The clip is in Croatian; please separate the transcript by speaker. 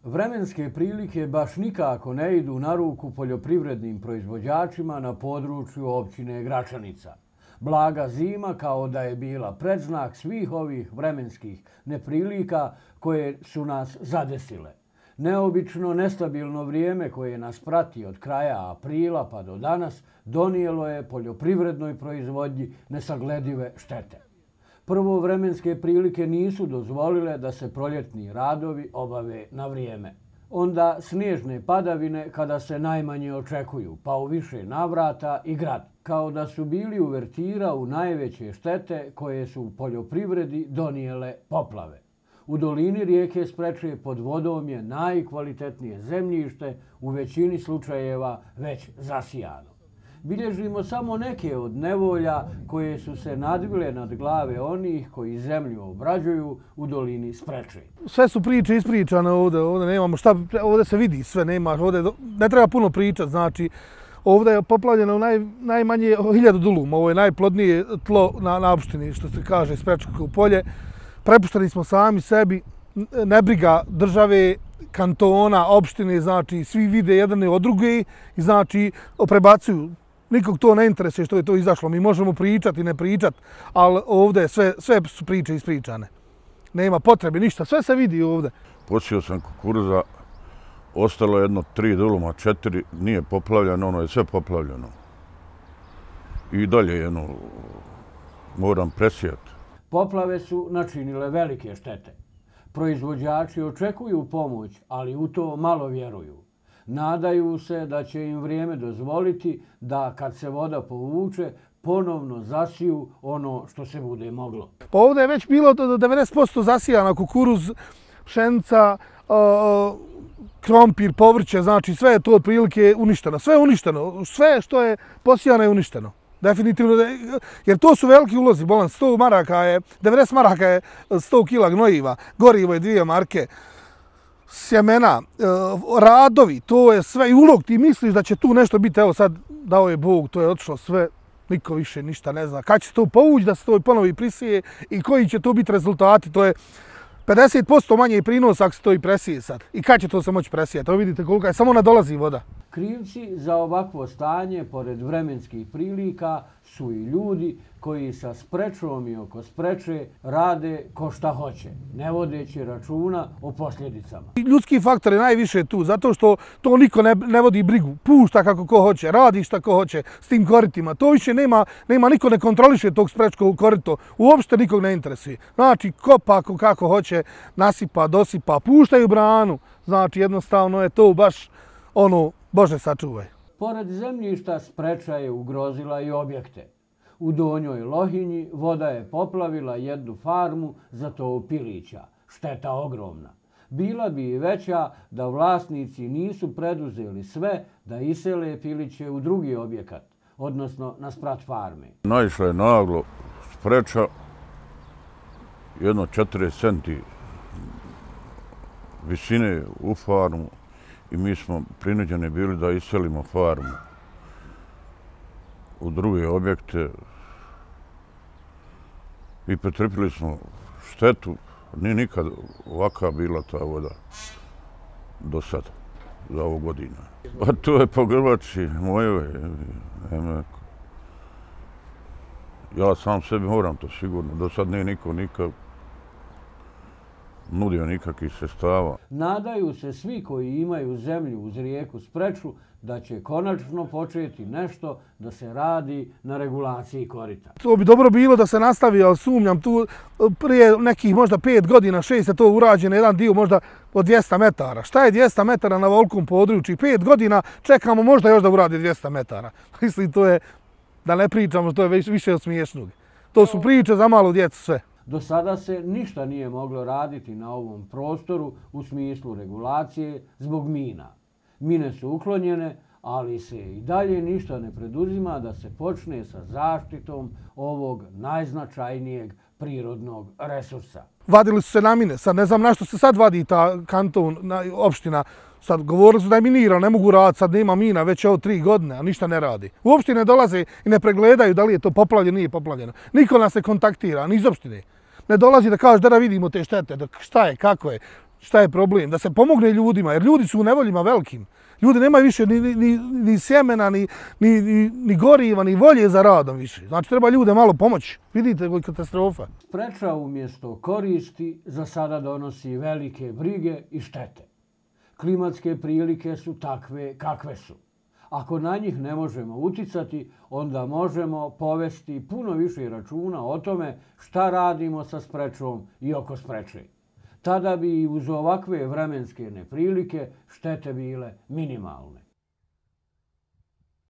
Speaker 1: Vremenske prilike baš nikako ne idu na ruku poljoprivrednim proizvođačima na području općine Gračanica. Blaga zima kao da je bila predznak svih ovih vremenskih neprilika koje su nas zadesile. Neobično nestabilno vrijeme koje nas prati od kraja aprila pa do danas donijelo je poljoprivrednoj proizvodnji nesagledive štete. Prvo, vremenske prilike nisu dozvolile da se proljetni radovi obave na vrijeme. Onda snježne padavine kada se najmanje očekuju, pa u više navrata i grad, kao da su bili uvertira u najveće štete koje su u poljoprivredi donijele poplave. U dolini rijeke Spreče pod vodom je najkvalitetnije zemljište, u većini slučajeva već zasijano. Bilježimo samo neke od nevolja koje su se nadvile nad glave onih koji zemlju obrađuju u dolini Spreče.
Speaker 2: Sve su priče ispričane ovdje nemamo šta, ovdje se vidi sve, nema, ovdje ne treba puno pričati, znači ovdje je poplavljeno najmanje 1000 duluma, ovo je najplodnije tlo na opštini, što se kaže Sprečko polje. Prepušteni smo sami sebi, nebriga države, kantona, opštine, znači svi vide jedne od druge i znači prebacuju. Nikog to ne interesuje što je to izašlo. Mi možemo pričati, ne pričati, ali ovdje sve su priče ispričane. Nema potrebe, ništa, sve se vidi ovdje.
Speaker 3: Posio sam kukuruza, ostalo jedno 3 duluma, 4, nije poplavljeno, ono je sve poplavljeno. I dalje moram presijati.
Speaker 1: Poplave su načinile velike štete. Proizvođači očekuju pomoć, ali u to malo vjeruju. Nadaju se da će im vrijeme dozvoliti da kad se voda povuče, ponovno zasiju ono što se bude moglo.
Speaker 2: Pa ovdje je već bilo do 90% zasijana kukuruz, pšenica, krompir, povrće, znači sve je to otprilike uništeno. Sve je uništeno, sve što je posijano je uništeno. Definitivno, jer to su veliki ulozi, bolan, 100 maraka je, 90 maraka je 100 kila gnojiva, gorivo je 2 marke, sjemena, radovi, to je sve i ulog. Ti misliš da će tu nešto biti, evo sad dao je Bog, to je otišlo sve, niko više ništa ne zna. Kad će to povući da se to ponovi prisije i koji će to biti rezultati, to je 50% manje prinosa ako se to i presije sad. I kad će to se moći presijeti? Evo vidite koliko je, samo nadolazi voda.
Speaker 1: Krivci za ovakvo stanje, pored vremenskih prilika, su i ljudi koji sa Sprečom i oko Spreče rade ko šta hoće, ne vodeći računa o posljedicama.
Speaker 2: Ljudski faktor je najviše tu, zato što to niko ne vodi brigu, pušta kako ko hoće, radi šta ko hoće s tim koritima. To više nema niko ne kontroliše tog Sprečkog korito, uopšte nikog ne interesuje. Znači, kopa kako hoće, nasipa, dosipa, puštaju branu, znači jednostavno je to baš Bože sačuvaj.
Speaker 1: Pored zemljišta Spreča je ugrozila i objekte. U Donjoj Lohinji voda je poplavila jednu farmu za tov pilića. Šteta ogromna. Bila bi i veća da vlasnici nisu preduzeli sve da isele piliće u drugi objekat, odnosno na sprat farme.
Speaker 3: Naišla je naglo Spreča, jedno 40 centi visine u farmu i mi smo prinuđeni bili da iselimo farmu u druge objekte i pretrpili smo štetu. Nije nikad ovaka bila ta voda do sada, za ovu godinu. A to je po Grbači mojoj. Ja sam sebi moram to sigurno. Do sad nije niko nikad nudio nikakvih sredstava.
Speaker 1: Nadaju se svi koji imaju zemlju uz rijeku Spreču da će konačno početi nešto da se radi na regulaciji korita.
Speaker 2: To bi dobro bilo da se nastavi, ali sumnjam tu prije nekih možda 5 godina, 6 je to urađeno, jedan dio možda od 200 metara. Šta je 200 metara na velikom području? 5 godina čekamo možda još da uradi 200 metara. Mislim, to je, da ne pričamo, to je više od smiješnog. To su priče za malu djecu sve.
Speaker 1: Do sada se ništa nije moglo raditi na ovom prostoru u smislu regulacije zbog mina. Mine su uklonjene, ali se i dalje ništa ne preduzima da se počne sa zaštitom ovog najznačajnijeg prirodnog resursa.
Speaker 2: Vadili su se na mine, sad ne znam na što se sad vadi ta kanton, opština. Sad govorili su da je minirano, ne mogu raditi, sad nema mina već ovo 3 godine, a ništa ne radi. Uopšte ne dolaze i ne pregledaju da li je to poplavljeno, nije poplavljeno. Niko nas ne kontaktira, ni iz opštine. Ne dolazi da kaže da vidimo te štete, šta je, kako je. Šta je problem? Da se pomogne ljudima, jer ljudi su u nevoljima velikim. Ljudi nemaju više ni sjemena, ni goriva, ni volje za radom više. Znači, treba ljude malo pomoći. Vidite koji katastrofa.
Speaker 1: Spreča umjesto koristi za sada donosi velike brige i štete. Klimatske prilike su takve kakve su. Ako na njih ne možemo uticati, onda možemo povesti puno više računa o tome šta radimo sa sprečom i oko spreče. Tada bi i uz ovakve vremenske neprilike štete bile minimalne.